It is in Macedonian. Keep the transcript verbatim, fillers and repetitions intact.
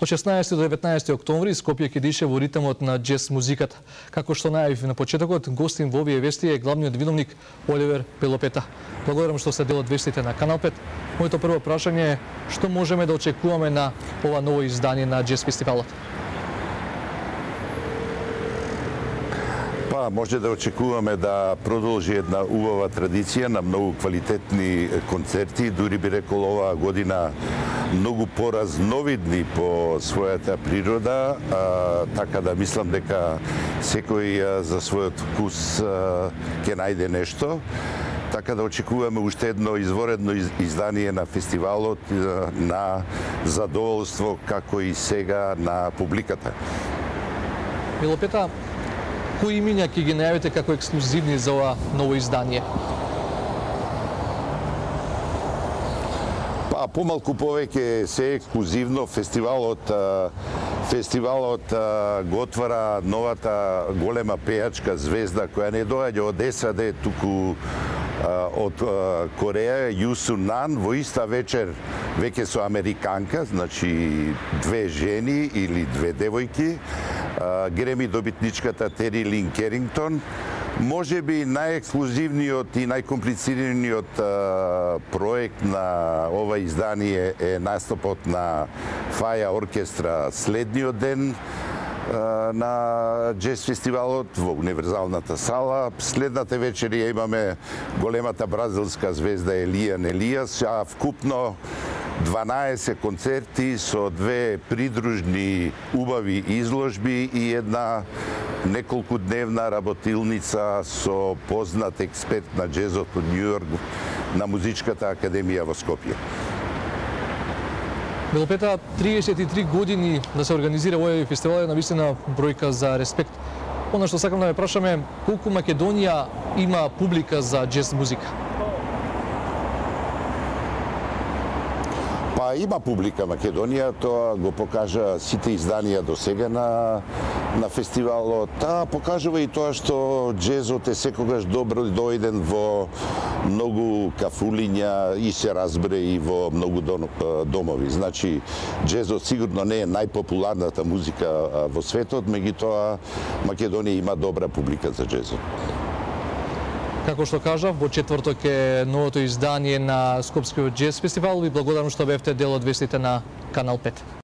Од шеснаесети до деветнаесети октомври Скопје ќе дише во ритмот на џез музиката. Како што најавив на почетокот, гостин во овие вести е главниот виновник Оливер Пелопета. Благодарам што сте дел од вестите на Канал пет. Моето прво прашање е што можеме да очекуваме на ова ново издание на џез фестивалот? Па, може да очекуваме да продолжи една убава традиција на многу квалитетни концерти, дури би рекол оваа година многу поразновидни по својата природа, а, така да мислам дека секој а, за својот вкус а, ќе најде нешто. Така да очекуваме уште едно изворедно издание на фестивалот на задоволство како и сега на публиката. Пелопета, кои имиња ќе ги најавите како ексклузивни за ова ново издание? Па, помалку повеќе се ексклузивно. Фестивалот фестивалот го отвара новата голема пејачка звезда која не доаѓа од САД, туку од Кореја, Ю Сун Нан, во иста вечер веќе со американка, значи две жени или две девојки, Греми добитничката Тери Лин Керингтон. Може би најексклузивниот и најкомплицираниот проект на ова издание е настапот на Фаја оркестра следниот ден на џез фестивалот во Универзалната сала. Следната вечер ја имаме големата бразилска звезда Елијан Елијас, а вкупно дванаесет концерти со две придружни убави изложби и една неколку дневна работилница со познат експерт на џезот од Њујорк на Музичката академија во Скопје. Пелопета, триесет и три години да се организира овој фестивал е навистина бројка за респект. Она што сакам да ме прашаме, колку Македонија има публика за џез музика? Па има публика Македонија, тоа го покажа сите изданија до сега на на фестивалот. Та покажува и тоа што џезот е секогаш добро дојден во многу кафулиња и се разбере и во многу домови. Значи, џезот сигурно не е најпопуларната музика во светот, меѓутоа Македонија има добра публика за џезот. Како што кажав, во четврток е новото издание на Скопскиот џез фестивал. Ви благодарам што бевте дел од вестите на Канал пет.